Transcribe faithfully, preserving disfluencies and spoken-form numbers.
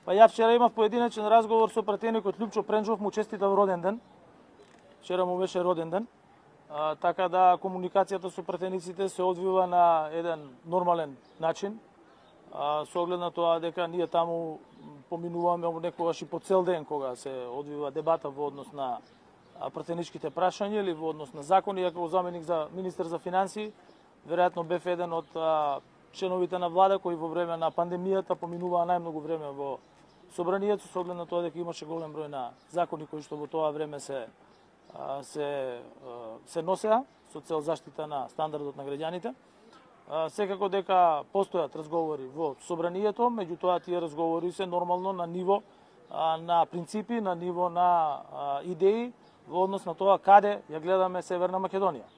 Па ја вчера имав поединечен разговор со пратеникот Љупчо Пренџов, му честитав роден ден. Вчера му беше роден ден. А, така да комуникацијата со пратениците се одвива на еден нормален начин. А, со оглед на тоа дека ние таму поминуваме некогаш и по цел ден кога се одвива дебата во однос на пратеничките прашања или во однос на закони, ја како заменик за министер за финансии, веројатно бев еден од а, членовите на влада кои во време на пандемијата поминуваа најмногу време во собранието, со оглед на тоа дека имаше голем број на закони кои што во тоа време се а, се се носеа со цел заштита на стандардот на граѓаните. А, секако дека постојат разговори во собранието, меѓутоа тие разговори се нормално на ниво а, на принципи, на ниво на а, идеи во однос на тоа каде ја гледаме Северна Македонија.